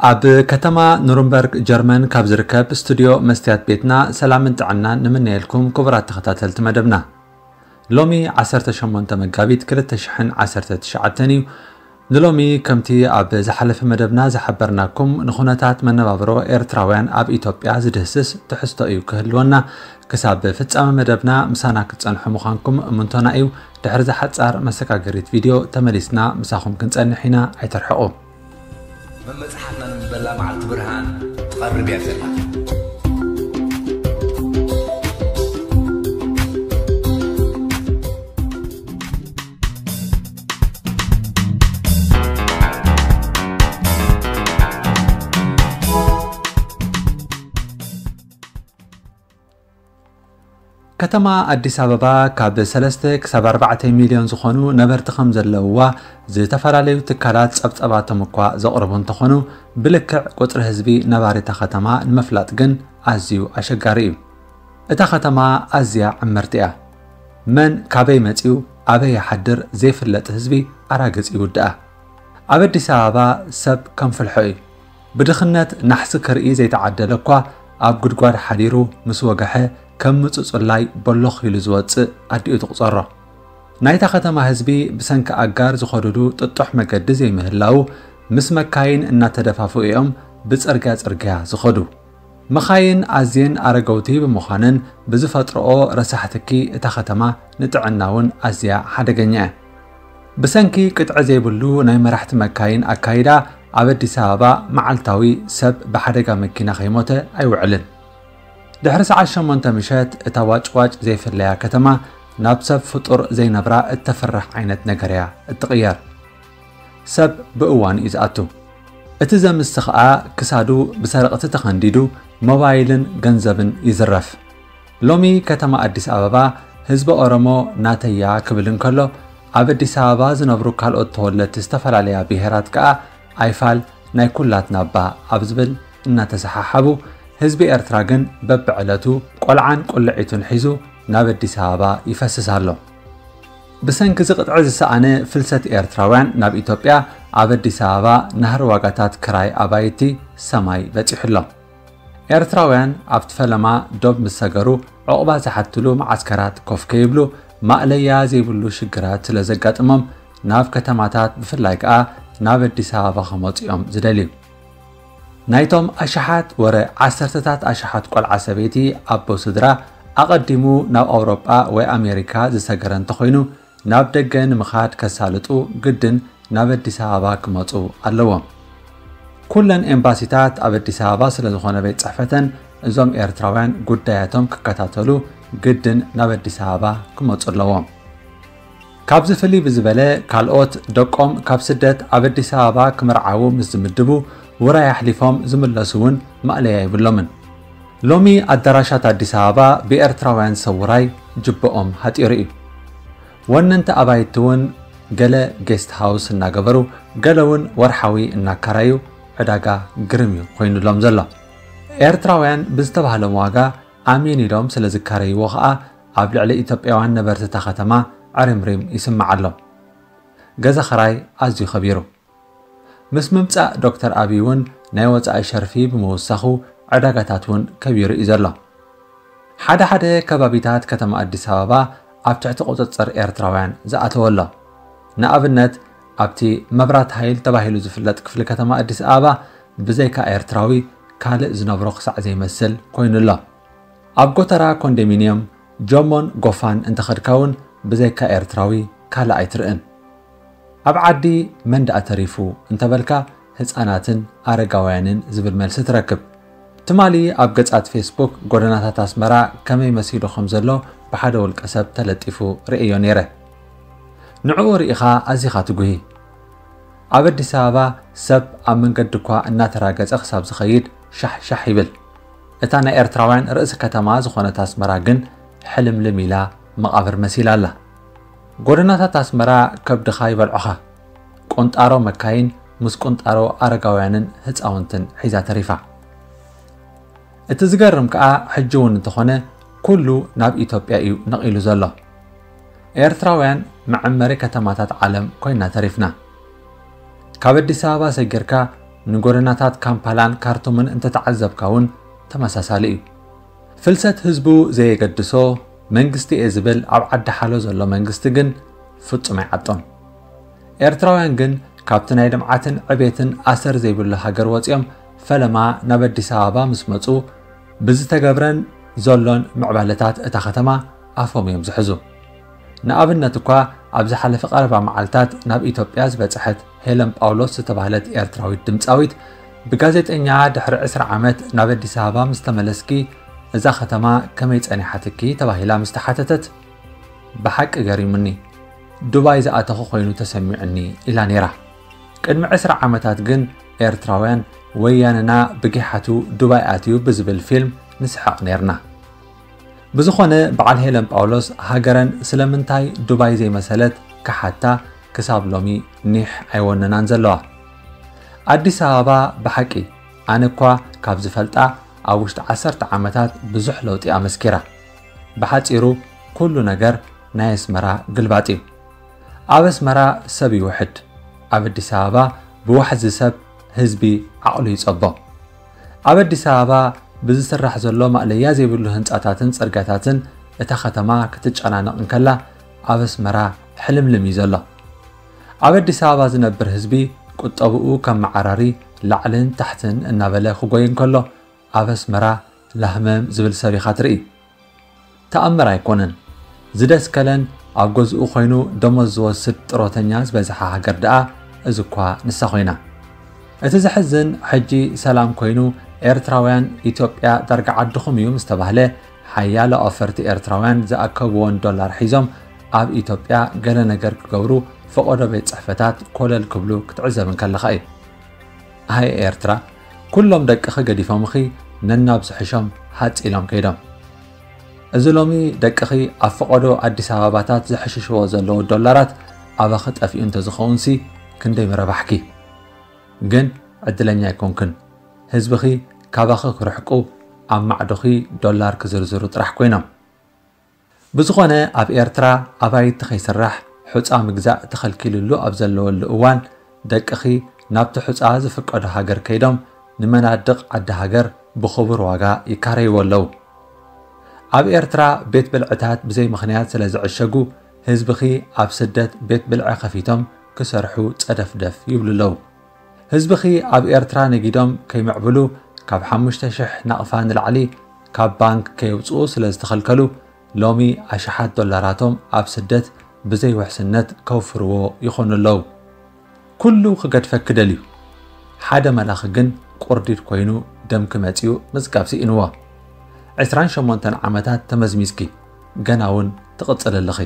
ኣብ ከተማ ኑርንበርግ ጀርመን ካብ ዝርከብ ስቱድዮ መስትያት ቤትና ሰላምን ጥዕናን ንምነየልኩም ክቡራት ተኸታተልቲ መደብና። ሎሚ ዓሰርተ ሸሞንተ መጋቢት ክልተ ሽሕን ዓሰርተ ትሽዓተን እዩ። ንሎሚ ከምቲ ኣብ ዝሓለፈ መደብና ዝሓበርናኩም ንኹነታት መነባብሮ ኤርትራውያን ኣብ ኢትዮጵያ ዝድህስስ ትሕዝቶ እዩ ክህልወና። ክሳብ ፍጻመ መደብና ምሳና ክትጸንሑ ምዃንኩም እምንቶና እዩ። ድሕሪ ዝሓጻር መሰጋገሪት ቪድዮ ተመሊስና ምሳኹም ክንጸንሕ ኢና፣ ኣይተርሕቑ። መመጽሓፍና ንምበላ መዓልቲ ብርሃን ትቐርብ እያ ዘላ። ከተማ ኣዲስ ኣበባ ካብ ሰለስተ ክሳብ ኣርባዕተ ሚልዮን ዝኾኑ ነበርቲ ከም ዘለውዋ ዝተፈላለዩ ትካላት ጸብጸባቶም እኳ ዘቕርቡ እንተኾኑ፣ ብልክዕ ቁጽሪ ህዝቢ ነባሪ እታ ከተማ ንምፍላጥ ግን ኣዝዩ ኣሸጋሪ እዩ። እታ ከተማ ኣዝያ ዕምርቲ እያ። መን ካበይ መጺኡ ኣበይ ይሓድር ዘይፍለጥ ህዝቢ ኣራግጽ ይውድኣ። ኣብ ኣዲስ ኣበባ ሰብ ከም ፍልሖ እዩ። ብድኽነት ናሕሲ ክርኢ ዘይተዓደለ እኳ ኣብ ጉድጓድ ሓዲሩ ምስ ወገሐ ከም ምጹጽላይ ቦሎኽ ኢሉ ዝወጽእ ኣዲኡ ትቑጸሮ። ናይታ ከተማ ህዝቢ ብሰንኪ ኣጋር ዝኸዱሉ ጥጡሕ መገዲ ዘይምህላዉ ምስ መካይን እናተደፋፍኡ እዮም ብጽርግያ ጽርግያ ዝኸዱ። መኻይን ኣዝየን ኣረገውቲ ብምዃነን ብዝፈጥርኦ ረሳሕ ትኪ እታ ከተማ ንጥዕና እውን ኣዝያ ሓደገኛ እያ። ብሰንኪ ቅጥዒ ዘይብሉ ናይ መራሕቲ መካይን ኣካይዳ ኣብ ኣዲስ ኣበባ መዓልታዊ ሰብ ብሓደጋ መኪና ከይሞተ ኣይውዕልን። ድሕሪ ሰዓት ሸሞንተ ምሸት እታ ዋጭዋጭ ዘይፍለያ ከተማ ናብ ሰብ ፍጡር ዘይነብራ እተፍርሕ ዓይነት ነገር እያ እትቕየር። ሰብ ብእዋኑ እዩ ዝኣቱ። እቲ ዘምስ ኸኣ ክሳዱ ብሰረቕቲ ተኸንዲዱ ሞባይልን ገንዘብን ይዝረፍ። ሎሚ ከተማ ኣዲስ ኣበባ ህዝቢ ኦሮሞ ናተያ ክብል እንከሎ፣ ኣብ ኣዲስ ኣበባ ዝነብሩ ካልኦት ተወለድቲ ዝተፈላለያ ብሄራት ከኣ ኣይፋል ናይ ኩላትና እባ ኣብ ዝብል እናተሰሓሓቡ፣ ህዝቢ ኤርትራ ግን በብዕለቱ ቆልዓን ቁልዒቱን ሒዙ ናብ ኣዲስ ኣበባ ይፈስስ ኣሎ። ብሰንኪ እዚ ቅጥዒ ዝሰኣነ ፍልሰት ኤርትራውያን ናብ ኢትዮጵያ፣ ኣብ ኣዲስ ኣበባ ናህሪ ዋጋታት ክራይ ኣባይቲ ሰማይ በጺሑ ኣሎ። ኤርትራውያን ኣብቲ ፈለማ ዶብ ምስ ሰገሩ፣ ዑቕባ ዝሓትሉ መዓስከራት ኮፍ ከይብሉ፣ ማእለያ ዘይብሉ ሽግራት ስለ ዘጋጥሞም፣ ናብ ከተማታት ብፍላይ ከኣ ናብ ኣዲስ ኣበባ ክመጹ እዮም ዝደልዩ። ናይቶም ኣሽሓት ወረ ዓሰርተታት ኣሽሓት ቆልዓ ሰበይቲ ኣቦ ስድራ ኣቐዲሙ ናብ ኣውሮጳ ወይ ኣሜሪካ ዝሰገረ እንተኾይኑ፣ ናብ ደገ ንምኻድ ከሳልጡ ግድን ናብ ኣዲስ ኣበባ ክመጹ ኣለዎም። ኩለን ኤምባሲታት ኣብ ኣዲስ ኣበባ ስለ ዝኾነ ቤት ጽሕፈተን፣ እዞም ኤርትራውያን ጉዳያቶም ክከታተሉ ግድን ናብ ኣዲስ ኣበባ ክመጹ ኣለዎም። ካብዚ ፍልይ ብዝበለ፣ ካልኦት ደቆም ካብ ስደት ኣብ ኣዲስ ኣበባ ክምርዓዉ ምስ ዝምድቡ፣ ውራይ ኣሕሊፎም ዝምለሱ እውን ማእለያ የብሎምን። ሎሚ ኣዳራሻት ኣዲስ ኣበባ ብኤርትራውያን ሰብ ውራይ ጅብኦም ሃጢሩ እዩ። ወነንቲ ኣባይቲ እውን ገለ ጌስት ሃውስ እናገበሩ፣ ገለ እውን ወርሓዊ እናካራዩ ዕዳጋ ግርም እዩ ኮይኑሎም ዘሎ። ኤርትራውያን ብዝተባህሎም ዋጋ ኣሜን ኢሎም ስለ ዝካረይዎ ኸኣ፣ ኣብ ልዕሊ ኢትዮጵያውያን ነበርቲ እታ ከተማ ዕሪምሪም ይስማዕ ኣሎ። ገዛ ኽራይ ኣዝዩ ኸቢሩ። ምስ ምምጻእ ዶክተር ኣቢይ እውን ናይ ወጻኢ ሸርፊ ብምውሳኹ፣ ዕዳጋታት እውን ከቢሩ እዩ ዘሎ። ሓደ ሓደ ከባቢታት ከተማ ኣዲስ ኣበባ ኣብ ትሕቲ ቁጽጽር ኤርትራውያን ዝኣተወ ኣሎ። ንኣብነት፣ ኣብቲ መብራት ሃይል ተባሂሉ ዝፍለጥ ክፍሊ ከተማ ኣዲስ ኣበባ፣ ብዘይካ ኤርትራዊ ካልእ ዝነብሮ ክሳዕ ዘይመስል ኮይኑ ኣሎ። ኣብ ጎተራ ኮንዶሚንየም፣ ጆሞን ጎፋን እንተኸድካ እውን ብዘይካ ኤርትራዊ ካልእ ኣይትርእን። ኣብ ዓዲ መን ደኣ ተሪፉ እንተበልካ፣ ህጻናትን ኣረጋውያንን ዝብል መልሲ ትረክብ። ትማሊ ኣብ ገጻት ፌስቡክ ጎደናታት ኣስመራ ከመይ መሲሉ ከም ዘሎ ብሓደ ውልቀ ሰብ ተለጢፉ ርእዮ ነይረ። ንዕኡ ርኢኻ ኣዚኻ ትጉሂ። ኣብ ኣዲስ ኣበባ ሰብ ኣብ መንገዲ እኳ እናተራገጸ ክሳብ ዝኸይድ ሻሕ ሻሕ ይብል። እታ ናይ ኤርትራውያን ርእሲ ከተማ ዝኾነት ኣስመራ ግን ሕልምልም ኢላ መቓብር መሲላ ኣላ። ጎደናታት ኣስመራ ከብድኻ ይበልዑኻ። ቁንጣሮ መካይን ምስ ቁንጣሮ ኣረጋውያንን ህጻውንትን ሒዛ ተሪፋ። እቲ ዝገርም ከኣ፣ ሕጂ እውን እንተኾነ ኩሉ ናብ ኢትዮጵያ እዩ ነቒሉ ዘሎ። ኤርትራውያን መዐመሪ ከተማታት ዓለም ኮይና ተሪፍና። ካብ ኣዲስ ኣበባ ሰጊርካ ንጎደናታት ካምፓላን ካርቱምን እንተተዓዘብካ እውን ተመሳሳሊ እዩ። ፍልሰት ህዝቡ ዘየገድሶ መንግስቲ እየ ዝብል ኣብ ዓዲ ሓሎ ዘሎ መንግስቲ ግን ፍጹም ኣይዓጦን። ኤርትራውያን ግን ካብቲ ናይ ልምዓትን ዕቤትን ኣሰር ዘይብሉ ሃገር ወጺኦም ፈለማ ናብ ኣዲስ ኣበባ ምስ መጹ ብዝተገብረን ዘሎን ምዕባለታት እታ ከተማ ኣፎም እዮም ዝሕዙ። ንኣብነት እኳ ኣብ ዝሓለፈ ቀረባ መዓልታት ናብ ኢትዮጵያ ዝበጽሐት ሄለን ጳውሎስ ዝተባህለት ኤርትራዊት ድምጻዊት ብጋዜጠኛ ድሕሪ ዕስራ ዓመት ናብ ኣዲስ ኣበባ ምስ ተመለስኪ እዛ ከተማ ከመይ ጸኒሓትኪ ተባሂላ ምስ ተሓተተት ብሓቂ ገሪሙኒ፣ ዱባይ ዝኣተኹ ኮይኑ ተሰሚዑኒ ኢላ ነይራ። ቅድሚ ዕስራ ዓመታት ግን ኤርትራውያን ወያነና ብጊሓቱ ዱባይ ኣትዩ ብዝብል ፊልም ንስሕቕ ነይርና። ብዝኾነ በዓል ሄለን ጳውሎስ ሃገረን ስለምንታይ ዱባይ ዘይመሰለት ክሓታ ክሳብ ሎሚ ኒሕ ኣይወነናን ዘለዋ። ኣዲስ ኣበባ ብሓቂ ኣነ እኳ ካብ ዝፈልጣ ኣብ ውሽጢ ዓሰርተ ዓመታት ብዙሕ ለውጢ ኣመስኪራ። ብሓጺሩ ኩሉ ነገር ናይ ኣስመራ ግልባጥ እዩ። ኣብ ኣስመራ ሰብ ይውሕድ። ኣብ ኣዲስ ኣበባ ብዋሕዚ ሰብ ህዝቢ ዓቕሉ ይጸቦ። ኣብ ኣዲስ ኣበባ ብዝስራሕ ዘሎ ማእለያ ዘይብሉ ህንጻታትን ጽርጋታትን እታ ከተማ ክትጨናነቕ እንከላ ኣብ ኣስመራ ሕልምልም እዩ ዘሎ። ኣብ ኣዲስ ኣበባ ዝነብር ህዝቢ ቁጠብኡ ከም መዓራሪ ላዕልን ታሕትን እናበለ ክጎይ እንከሎ ኣብ ኣስመራ ላህመም ዝብል ሰብ ኢኻ ትርኢ። ተኣምር ኣይኮነን። ዝደስከለን ኣብ ገዝኡ ኮይኑ ደሞዝ ዝወስድ ጥሮተኛ ዝበዝሓ ሃገር ደኣ እዚ እኳ ንሳ ኮይና። እቲ ዘሕዝን ሕጂ ሰላም ኮይኑ ኤርትራውያን ኢትዮጵያ ዳርጋ ዓድኹም እዩ ምስ ተባህለ ሓያሎ ኣውፈርቲ ኤርትራውያን ዝኣከብዎን ዶላር ሒዞም ኣብ ኢትዮጵያ ገለ ነገር ክገብሩ ፈቐዶ ቤት ጽሕፈታት ኮለል ክብሉ ክትዕዘብ እንከለኻ እዩ። ኣየ ኤርትራ፣ ኩሎም ደቅኺ ገዲፎምኺ ነናብ ዝሕሾም ሃጽ ኢሎም ከይዶም። እዚ ሎሚ ደቅኺ ኣብ ፈቐዶ ኣዲስ ኣበባታት ዝሕሽሽዎ ዘለዉ ዶላራት ኣባኺ ጠፊኡ እንተዝኸውንሲ ክንደይ ምረባሕኪ። ግን ዕድለኛ ኣይኮንክን። ህዝብኺ ካባኺ ክርሕቁ ኣብ ማዕዶኺ ዶላር ክዝርዝሩ ጥራሕ ኮይኖም። ብዝኾነ ኣብ ኤርትራ ኣባይቲ ከይስራሕ ሑጻ ምግዛእ ተኸልኪልሉ ኣብ ዘለወሉ እዋን ደቅኺ ናብቲ ሑጻ ዝፍቀዶ ሃገር ከይዶም ንመናድቕ ዓዲ ሃገር ብኽቡር ዋጋ ይካረይዎ ኣለዉ። ኣብ ኤርትራ ቤት ብልዕታት ብዘይ ምኽንያት ስለ ዝዕሸጉ ህዝብኺ ኣብ ስደት ቤት ብልዒ ከፊቶም ክሰርሑ ጸደፍደፍ ይብሉ ኣለዉ። ህዝብኺ ኣብ ኤርትራ ነጊዶም ከይምዕብሉ ካብ ሓሙሽተ ሽሕ ናቕፋ ንላዕሊ ካብ ባንክ ከየውጽኡ ስለ ዝተኸልከሉ ሎሚ ኣሽሓት ዶላራቶም ኣብ ስደት ብዘይ ውሕስነት ከውፍርዎ ይኾኑ ኣለዉ። ኩሉ ክገድፈኪ ደልዩ። ሓደ መላኺ ግን ቁርዲድ ኮይኑ ደምኪ መጺኡ ምጽጋብ ስኢንዎ። ዕስራን ሸሞንተን ዓመታት ተመዝሚዝኪ፣ ገና እውን ትቕጽሊ ኣለኺ።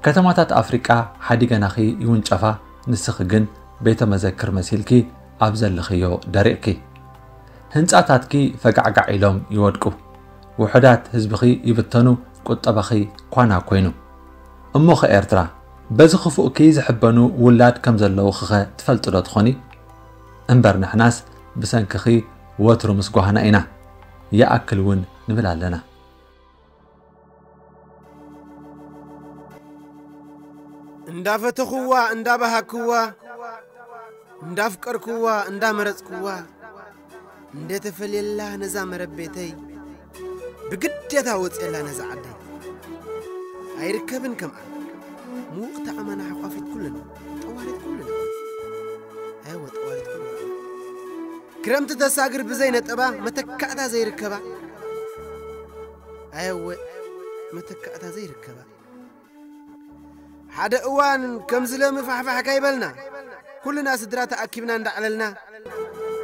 ከተማታት ኣፍሪቃ ሓዲገናኺ ይውንጨፋ፣ ንስኺ ግን ቤተ መዘክር መሲልኪ ኣብ ዘለኽዮ ደሪቕኪ። ህንጻታትኪ ፈጋዕጋዕ ኢሎም ይወድቁ። ውሑዳት ህዝብኺ ይብተኑ፣ ቁጠባኺ ኳና ኮይኑ። እሞኸ ኤርትራ፣ በዚ ክፉእኪ ዝሕበኑ ውላድ ከም ዘለውኺኸ ትፈልጢ ዶ ትኾኒ? እምበር ንሕናስ ብሰንክኺ ወትሩ ምስ ጓህና ኢና። ይኣክል እውን ንብል ኣለና። እንዳፈተኹዋ፣ እንዳባሃክዋ፣ እንዳፍቀርኩዋ፣ እንዳመረጽኩዋ፣ እንደተፈልየላ ነዛ መረብ ቤተይ ብግዴታ ወጽየላ ነዛ ዓደይ። ኣይርከብን ከምኣ። ምዉቕቲ ኣማና ሓቋፊት ኩልና፣ ጠዋሪት ኩልና። ኣይወ ጠዋሪት ኩልና። ክረምቲ ተሳግር ብዘይ ነጠባ፣ መተካእታ ዘይርከባ። ኣየወ መተካእታ ዘይርከባ። ሓደ እዋን ከምዚ ለሚ ፋሕፋሕ ካይበልና፣ ኩልና ስድራ ተኣኪብና እንዳዕለልና፣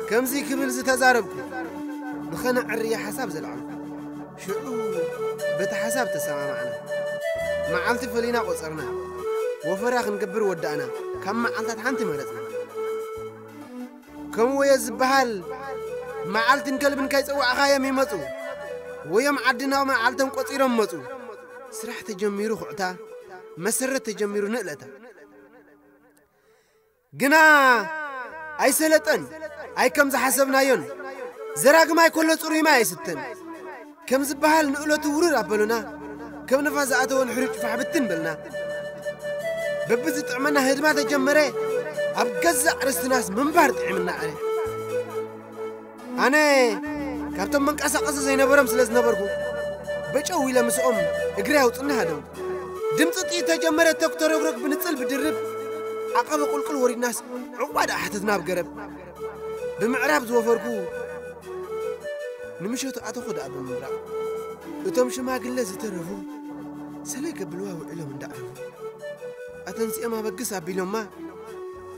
ከምዚ ክብል ዝተዛረብኩ፣ ንኸነዕርያ ሓሳብ ዘልዓልኩ። ሽዑ በቲ ሓሳብ ተሰማማዕና። መዓልቲ ፈሊና ቆጸርና። ወፈራ ክንገብር ወዳእና። ካብ መዓልታት ሓንቲ መረጽና። ከም ወዮ ዝበሃል መዓልትን ከልብን ከይጸዋዕኻዮም ይመጹ። ወዮም ዓድና መዓልቶም ቆጺሮም መጹ። ስራሕ ተጀሚሩ ኩዕታ፣ መሰረት ተጀሚሩ ንእለታ። ግና ኣይሰለጠን፣ ኣይ ከም ዝሓሰብናዮን። ዘራግማይ ከሎ ጽሩይ ማይ ኣይስተን። ከም ዝበሃል ንእለቱ ውርር ኣበሉና። ከም ንፋስ ዝኣተወ ንሕሩጭ ፋሕ ብትን በልና። በብዝጥዕመና ህድማ ተጀመረ። ኣብ ገዛእ ርስትናስ ምንባር ጥዒምና ኣረ። ኣነ ካብቶም መንቀሳቐሲ ዘይነበሮም ስለ ዝነበርኩ፣ በጨው ኢለ ምስኦም እግሪ ኣውፅና ሃደምኩ። ድምፂ ጥይት ተጀመረ። ተኩተረግረግ ብንፅል ብድርብ ዓቐበ ቁልቁል ወሪድናስ ዕቑባ ደኣ ሓተትና ኣብ ገረብ። ብምዕራብ ዝወፈርኩ ንምሸቱ ኣተኹ ደኣ ብምብራቕ። እቶም ሽማግለ ዝተረፉ ሰለይ ከብልዋ ውዒሎም እንዳዕረፉ፣ ኣተንሲኦም ኣበግስ ኣቢሎማ፣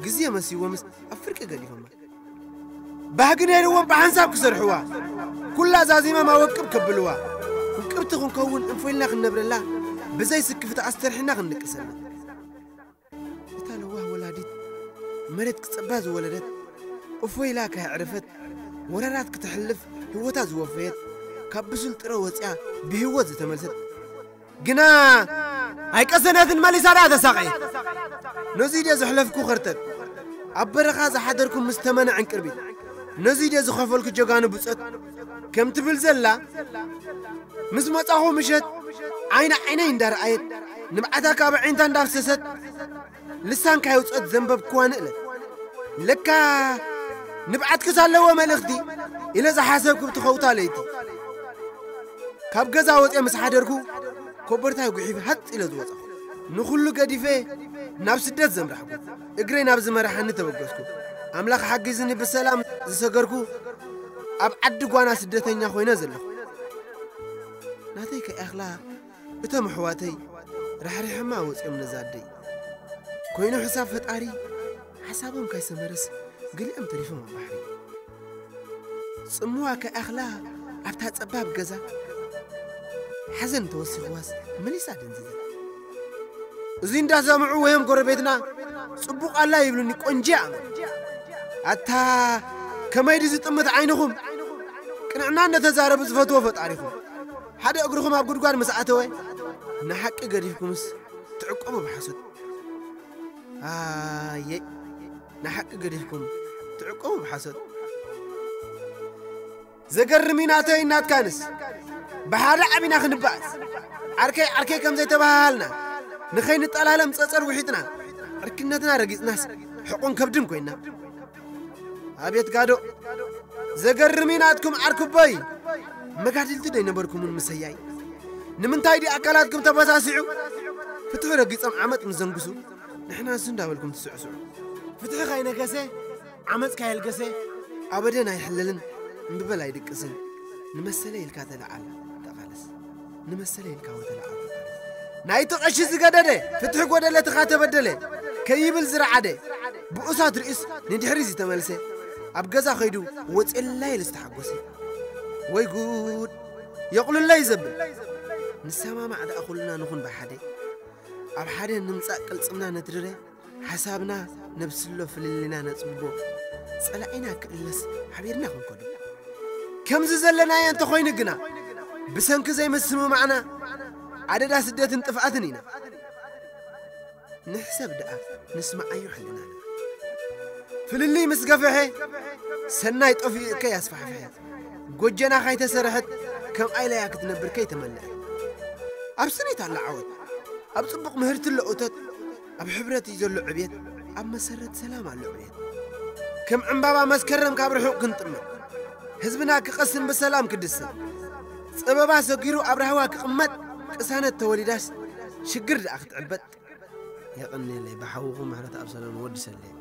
ግዜ መሲዎምስ ኣብ ፍርቂ ገዲፎማ። ባህጊ ነይርዎም ብሓንሳብ ክሰርሕዋ፣ ኩላ ዛዚማ ማወቅብ ከብልዋ። ውቅብቲ ክንከውን እንፎይልና ክንነብረላ፣ ብዘይ ስክፍታ ኣስተርሒና ክንንቅሰላ። እታ ለዋህ ወላዲት መሬት ክጸባ ዝወለደት፣ እፎይላ ካየዕረፈት፣ ወራራት ክትሕልፍ ህይወታ ዝወፈየት፣ ካብ ብሱል ጥረ ወጽያ ብህይወት ዝተመልሰት፣ ግና ኣይቀሰነትን፣ መሊሳ ደኣ ተሳቐየት። ነዙይ ድየ ዘሕለፍኩ ኸርተት፣ ኣብ በረኻ ዝሓደርኩ ምስ ተመነ ዕንቅርቢት፣ ነዙይ ድየ ዝኸፈልኩ ጀጋኑ ብጾት፣ ከም ትብል ዘላ፣ ምስ መጻኹ ምሸት ዓይኒ ዓይነይ እንዳረኣየት፣ ንብዓታ ካብ ኣዒንታ እንዳፍሰሰት፣ ልሳንካ የውጸት ዘንበብክዋ ንእለት። ለካ ንብዓትክስ ኣለዎ መልእኽቲ ኢለ ዝሓሰብኩ ብትኸውታ ለይቲ፣ ካብ ገዛ ወፅየ ምስ ሓደርኩ፣ ኮበርታይ ጉሒፍ ሃጥ ኢለ ዝወፀኹ። ንኹሉ ገዲፈ ናብ ስደት ዘምራሕኩ፣ እግረይ ናብ ዝመራሓኒ ተበገስኩ። ኣምላኽ ሓጊዝኒ ብሰላም ዝሰገርኩ፣ ኣብ ዓዲ ጓና ስደተኛ ኮይነ ዘለኹ። ናተይ ከይኣኽላ እቶም ኣሕዋተይ ራሕሪሖማ ወፂኦም ነዛ ኣደይ። ኮይኑ ሕሳብ ፈጣሪ፣ ሓሳቦም ካይሰመረስ ገሊኦም ተሪፎም ኣብ ባሕሪ። ጽምዋ ከይኣኽላ ኣብታ ጸባብ ገዛ ሓዘን ተወሲኽዋስ መሊሳ ደንዚዛ። እዚ እንዳሰምዑ ወዮም ጎረቤትና ጽቡቕ ኣላ ይብሉኒ ቆንጂ ኣመል። ኣታ ከመይ ድዩ ዝጥምት ዓይንኹም? ቅንዕና እንደተዛረቡ ዝፈትዎ ፈጣሪኹም። ሓደ እግርኹም ኣብ ጉድጓድ ምስ ኣተወ ንሓቂ ገዲፍኩምስ ትዕቆቡ ብሓሶት። ኣየ ንሓቂ ገዲፍኩም ትዕቆቡ ብሓሶት። ዘገርም እዩ ናተይ እናትካንስ ብሓደ ዓቢና ክንበኣስ። ዓርከይ ዓርከይ ከም ዘይተባሃሃልና ንኸይንጠላለም ጸጸር ውሒጥና ዕርክነትና ረጊጽናስ ሕቑን ከብድን ኮይና። ኣቤት ጋዶ ዘገርም እዩ ናትኩም ዓርኩቦይ። መጋድልቲ ዶ ኣይነበርኩምን ምሰያይ? ንምንታይ ድዩ ኣካላትኩም ተበሳሲዑ? ፍትሒ ረጊጾም ዓመጽ ምስ ዘንግሱ ንሕና እሱ እንዳበልኩም ትስዕስዑ። ፍትሒ ካይነገሰ ዓመጽ ካየልገሰ ኣበደን ኣይሕለልን እምብበል ኣይድቅስን። ንመሰለ ኢልካ ተለዓል ተቓለስ። ንመሰለ ኢልካ ወተለዓል ተቓለስ። ናይቲ ቀሺ ዝገደደ ፍትሒ ጎደለ ትኻ ተበደለ ከይብል ዝረዓደ ብኡሳት ርእስ ንድሕሪ ዝተመልሰ ኣብ ገዛ ኸይዱ ወፅየላ ኢሉ ዝተሓጎሰ። ወይ ጉድ የቑልለይ ዘብል ንሰማማዕ ደኣ ኩልና ንኹን ብሓደ ኣብ ሓደ ንምጻእ ቅልጽምና ነትርረ ሓሳብና ነብስሎ ፍልልና ነጽብቦ ጸላኢና ክእለስ ሓቢርና ክንከዶ። ከምዚ ዘለናዮ እንተኾይኑ ግና ብሰንኪ ዘይምስምማዕና ኣደዳ ስደትን ጥፍኣትን ኢና። ንሕሰብ ደኣ ንስምዓዮ ሕልናና። ፍልልይ ምስ ገፍሐ ሰናይ ጠፊኡ እከ ያስፋሕፍሐ። ጎጀና ካይተሰርሐት ከም ኣይለያ ክትነብር ከይተመልአት። ኣብ ስኒት ኣላ ዓወት፣ ኣብ ጽቡቕ ምህርቲ ኣሎ እቶት፣ ኣብ ሕብረት እዩ ዘሎ ዕብየት፣ ኣብ መሰረት ሰላም ኣሎ ዕብየት። ከም ዕምባባ መስከረም ካብ ርሑቕ ክንጥመት፣ ህዝብና ክቐስን ብሰላም ክድሰት፣ ጸበባ ሰጊሩ ኣብ ራህዋ ክቕመጥ፣ ቅሳነት ተወሊዳስ ሽግር ደኣ ክትዕበጥ። የቐንየለይ ብሓውኹም ምሕረት ኣብ ሰላም ወዲ ሰለይ።